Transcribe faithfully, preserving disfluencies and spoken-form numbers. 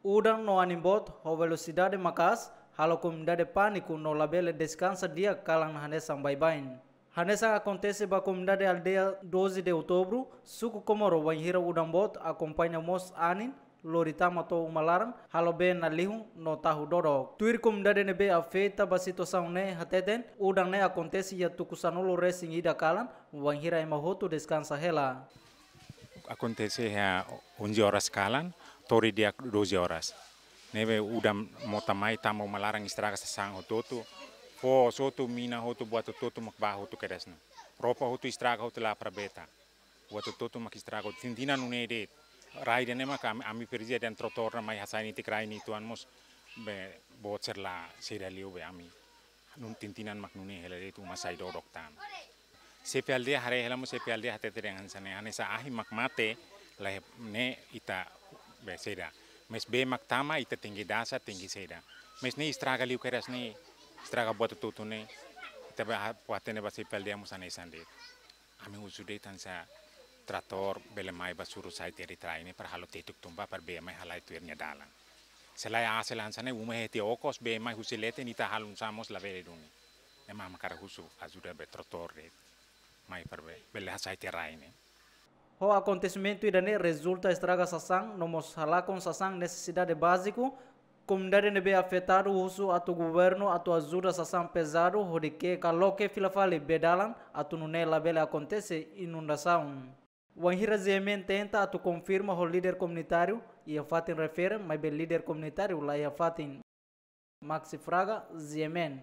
Udan no anin boot ho velosidade maka'as halo komunidade pániku no labele deskansa di'ak kalan hanesan baibain. Hanesan akontese ba komunidade aldeia doze de Outubro, suku Comoro, wainhira udan boot akompaña mós anin, lori tama to'o uma laran, halo bee nalihun no tahu dodok. Tuir komunidade ne'ebé afeta ba situasaun ne'e hateten, udan ne'e akontese iha tuku sanulu-resin-ida kalan, wainhira ema hotu deskansa hela. Akontese iha onze horas kalan, to'o di'ak doze horas. Ne'ebé udan mota mai tama uma laran, estraga sasán hotu-hotu, fó hotu, mina hotu, buat hotu-hotu mak bá hotu kedas ne'e. Roupa hotu estraga hotu, la para bee tan. Buat hotu-hotu mak estraga, tintinan nune'e de'it. Rai ida-ne'e mak ami, ami presiza dehan tratór ne'e mai hasai netik rai ne'e uitoan mós bee boot sira la saida liu bee ami. Nun tintinan mak nune'e hela de'it, uma sai dodok tan. Xefe aldeia haree hela mós, xefe aldeia hatete dehan hanesan ne'e, hanesan ahi mak mate, la iha ne'e ita bee saida. Mais bee mak tama ita tenke dasa, tenke saida. Mais ne'e estraga liu kedas ne'e, estraga buat hotu-hotu ne'e, ita bá ha-, bá hatene ba xefe aldeia mós hanesan de'it. Ami husu de'it hanesan tratór bele mai bá suru sai tiha de'it rai ne'e para halo tetuk tun bá para bee mai halai tuir nia dalan. Se lae, ah, se lae hanesan ne'e uma iha tiha okos, bee mai husi leten, ita halo oinsá mós labele duni. Ne'e mak ami hakarak husu ajuda ba tratór de'it mai para bee bele hasai tiha rai ne'e. Ho akontesimentu ida-ne'e rezulta estraga sasán no mós halakon sasán nesesidade báziku, komunidade ne'ebé afetadu husu atu governu atu ajuda sasán pezadu hodi ke'e ka loke fila fali bee dalan atu nune'e labele akontese inundasaun. Wainhira GMN tenta atu konfirma ho líder komunitáriu iha fatin refere, maibé líder komunitáriu la iha fatin. Maxi Fraga, GMN.